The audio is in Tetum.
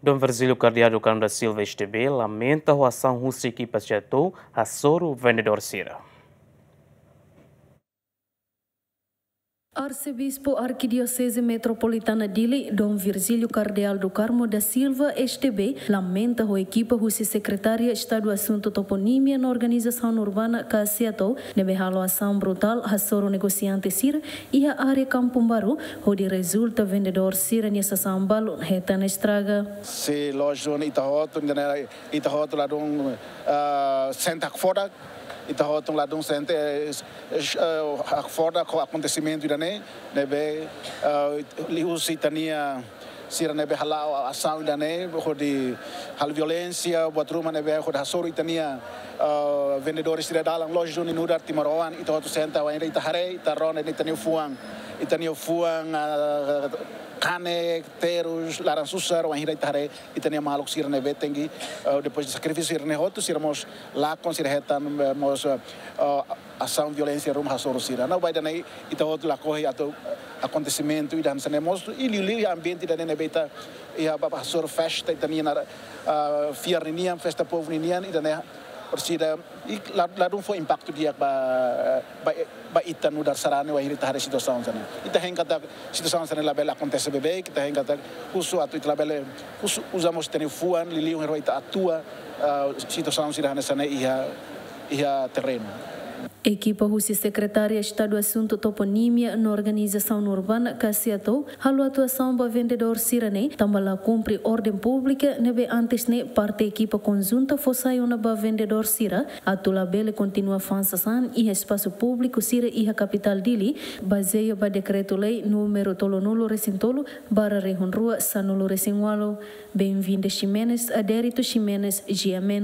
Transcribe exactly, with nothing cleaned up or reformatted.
Dom Virgílio Cardeal do Carmo da Silva, S T B, lamenta ho asaun husi ekipa SEATOU hasoru vendedór sira. Arsebispu Arkidioseze Metropolitana Dili, Dom Virgílio Cardeal do Carmo da Silva, S T B, lamenta ho ekipa husi Sekretária Estadu Asuntu Toponímia no Organizasaun Urbana ka SEATOU, ne'ebé halo asaun brutál hasoru negosiante sira iha área Kampung Baru, hodi rezulta vendedór sira-nia sasán balun hetan estraga. Se lójiku ita hotu, ita hotu ladún, ah, sente hakfodak, ita hotu ladún sente, eh, eh, hakfodak ho akontesimentu ida-ne'e, ne'ebé, ah, liuhusi ita-nia sira ne'ebé hala'o asaun ida-ne'e, hodi halo violénsia, buat ruma ne'ebé hodi hasoru ita-nia, ah, vendedór sira dalan, lójiku nu'udar timoroan, ita hotu sente, wainhira ita haree, ita rona ita-nia fuan, ita-nia fuan, ah, kanek, terus, laran susar, wainhira ita haree ita-nia maluk sira ne'ebé tenke, ah, depois de sakrifísiu sira-ne'e hotu, sira mós lakon, sira hetan, eh, mós, eh, ah, asaun violénsia ruma hasoru sira. No ba ida-ne'e ita hotu lakohi atu akontesimentu ida hanesan ne'e mós, i liuliu iha ambiente ida-ne'e ne'ebé ita iha ba, ba hasoru festa ita-nian, ah, fiar ninian, festa povu ninian, ida-ne'e orsida, i la, ladún fó impaktu di'ak ba, ba, ba ita nu'udar sarani wainhira ita haree situasaun hanesan ne'e. Ita hein katak situasaun hanesan ne'e labele akontese beibeik, ita hein katak husu atu ita labele husu uza mós ita-nia fuan, liuliu wainhira ita atua, ah, situasaun sira hanesan ne'e iha, iha terrenu. Ekipa husi Sekretária Estadu Asuntu Toponímia no Organizasaun Urbana ka SEATOU halo atuasaun ba vendedór sira-ne'e, tanba la kumpre orden públika ne'ebé antes ne'e parte ekipa konjunta fó sai ona ba vendedór sira, atu labele kontinua fa'an sasán iha espasu públiku sira iha kapitál Dili, bazeia ba dekretu-lei númeru tolunulu-resin-tolu barra rihun rua sanulu-resin-ualu. Benvinda Ximenes, Adérito Ximenes, G M N.